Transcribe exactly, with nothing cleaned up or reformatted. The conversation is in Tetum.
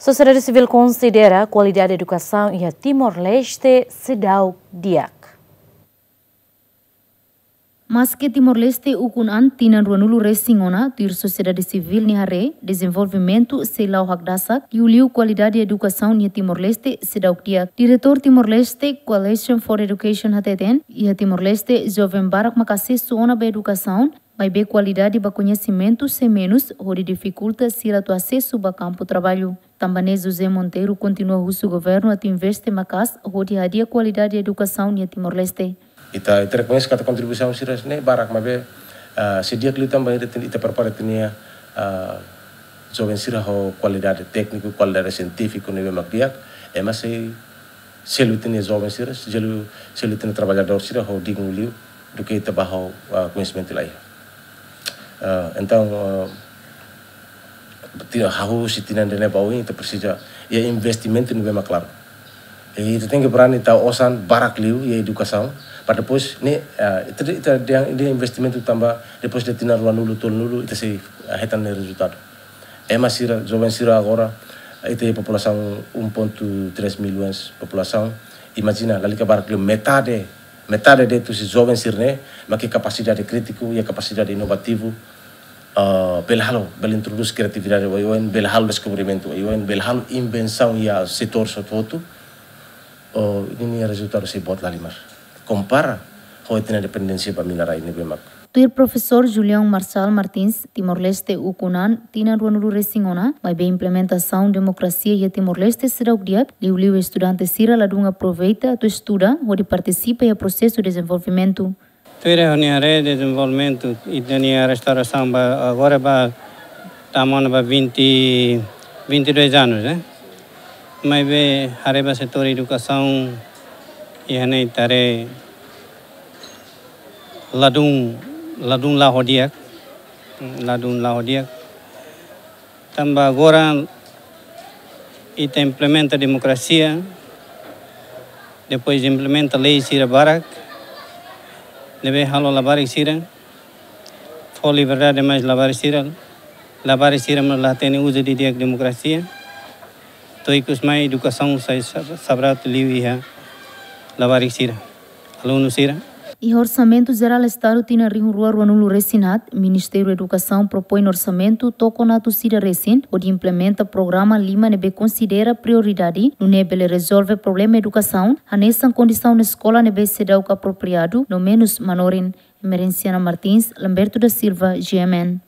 Sosiedade sivíl konsidera kualidade edukasaun iha Timor-Leste seidauk di'ak. Maske Timor-Leste ukun an tinan ruanulu resin ona, tuir sosiedade sivíl nia haree, dezenvolvimentu sei la'o hakdasak, liuliu kualidade edukasaun iha Timor-Leste seidauk di'ak. Diretór Timor-Leste Coalition for Education hateten, iha Timor-Leste joven barak maka asesu ona ba edukasaun, maibé kualidade ba koñesimentu sei menus, hodi difikulta sira atu asesu ba kampu traballu. Tanba ne'e José Monteiro kontinua husu governu atu investe maka'as hodi hadi'a kualidade edukasaun iha Timor-Leste. Ita, ita rekoñese katak kontribuisaun sira ne'e barak, maibé, ah, sei di'ak liu tanba ita, ita prepara ita-nia, ah, joven sira ho kualidade tékniku, kualidade sientífiku ne'ebé mak di'ak, ema sei selu ita-nia joven sira, selu, selu ita-nia traballadór sira ho dignu liu, duké ita ba ho, ah, koñesimentu la iha. Ah, entaun, ah, ti-, hahú husi tinan ida-ne'e ba oin, ita presiza iha investimentu ne'ebé mak klaru. I ita tenke berani tau osan barak liu iha edukasaun, para depois ne'e, ah, ita, ita, ita investimentu tanba depois de tinan ruanulu, tolunulu, ita sei, ah, hetan nia rezultadu. Ema sira, joven sira agora, ita iha populasaun um ponto três milhões populasaun. Imajina, lalika barak liu metade, metade de'it husi joven sira-ne'e mak iha kapasidade krítiku, iha kapasidade inovativu, ah, bele halo, bele introdús kriatividade oioin, bele halo deskobrimentu oioin, bele halo invensaun iha setór hotu-hotu. Oh, ida-ne'e nia rezultadu sei boot lahalimar. Kompara ho ita-nia dependénsia ba mina-rai ne'ebé mak. Tuir Profesór Julião Marçal Martins, Timor-Leste ukun an tinan ruanulu resin ona, maibé implementasaun demokrasia iha Timor-Leste seidauk di'ak, liuliu estudante sira ladún aproveita atu estuda hodi partisipa iha prosesu dezenvolvimentu. Tuir ha'u-nia haree, dezenvolvimentu ita-nia restaurasaun ba agora ba tama ona ba vinte, vinte e dois anos, eh. Maibé haree ba setór edukasaun, iha ne'e ita haree ladún, ladún la'o di'ak, ladún la'o di'ak. Tanba agora ita implementa demokrasia, depois implementa lei sira barak, ne'ebé halo labarik sira fó liberdade mais labarik sira, labarik sira mós la hatene uza didi'ak demokrasia. To'o ikus mai edukasaun sai sab-, sabraut liu iha labarik sira, alunu sira. Iha Orsamentu Jerál Estadu tinan rihun rua ruanulu resin haat, Ministériu Edukasaun propoin orsamentu tokon atus ida resin, hodi implementa programa lima ne'ebé konsidera prioridade, nune'e bele rezolve problema edukasaun, hanesan kondisaun eskola ne'ebé seidauk apropriadu, no menus manorin. Emerenciana Martins, Lamberto da Silva, G M N.